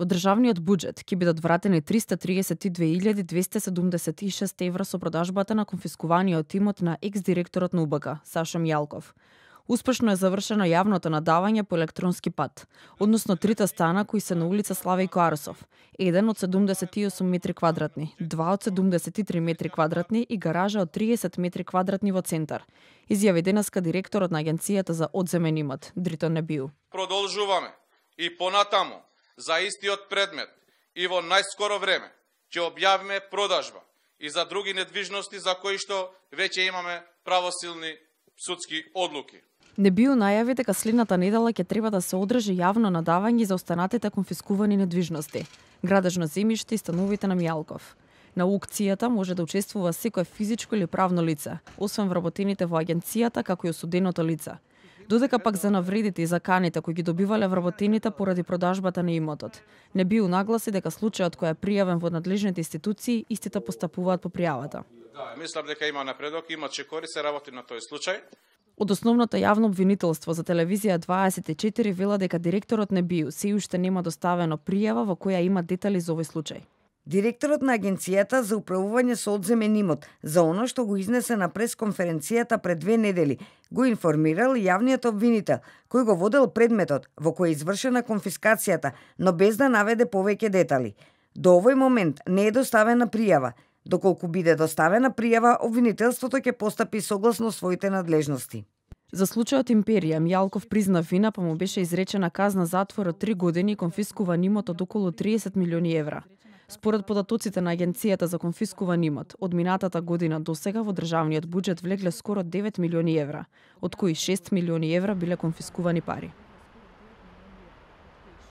Во државниот буџет ќе бидат вратени 332.276 евра со продажбата на конфискуваниот имот на екс-директорот на УБК, Сашо Мијалков. Успешно е завршено јавното надавање по електронски пат, односно 3 стана кои се на улица Славејко Арсов, еден од 78 метри квадратни, два од 73 метри квадратни и гаража од 30 метри квадратни во центар, изјави денеска директорот на Агенцијата за одземен имот, Дритон Небиу. Продолжуваме и понатаму за истиот предмет и во најскоро време ќе објавиме продажба и за други недвижности за кои што веќе имаме правосилни судски одлуки. Небиу најави дека следната недела ќе треба да се одржи јавно надавање за останатите конфискувани недвижности, градежно земјиште и становите на Мијалков. На аукцијата може да учествува секое физичко или правно лице, освен вработените во агенцијата како и осуденото лице. Додека пак за навредите и заканите кои ги добивале вработените поради продажбата на имотот. Небиу нагласи дека случајот кој е пријавен во надлежните институции, истите постапуваат по пријавата. Мислам дека има напредок, имаше корист, се работи на тој случај. Од основното јавно обвинителство за телевизија 24 вела дека директорот Небиу се уште нема доставено пријава во која има детали за овој случај. Директорот на Агенцијата за управување со одземен имот за оно што го изнесе на пресконференцијата пред 2 недели, го информирал јавниот обвинител, кој го водел предметот во кој е извршена конфискацијата, но без да наведе повеќе детали. До овој момент не е доставена пријава. Доколку биде доставена пријава, обвинителството ќе постапи согласно своите надлежности. За случајот Империја, Мијалков призна вина, па му беше изречена казна затвор од 3 години и конфискуван имот од околу 30 милиони евра. Според податоците на Агенцијата за конфискуван имот, од минатата година до сега во државниот буџет влегле скоро 9 милиони евра, од кои 6 милиони евра биле конфискувани пари.